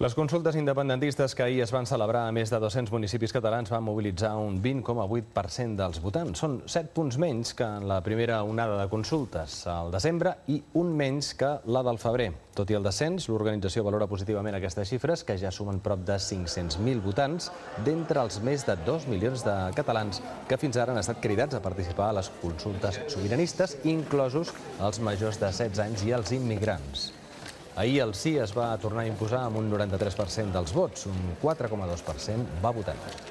Les consultes independentistes que ahir es van celebrar a més de 200 municipis catalans van mobilitzar un 20,8% dels votants. Són 7 punts menys que en la primera onada de consultes al desembre i un menys que la del febrer. Tot i el descens, l'organització valora positivament aquestes xifres, que ja sumen prop de 500.000 votants d'entre els més de 2 milions de catalans que fins ara han estat cridats a participar a les consultes sobiranistes, inclosos els majors de 16 anys i els immigrants. Ahir el sí es va tornar a imposar amb un 93% dels vots, un 4,2% va votar no.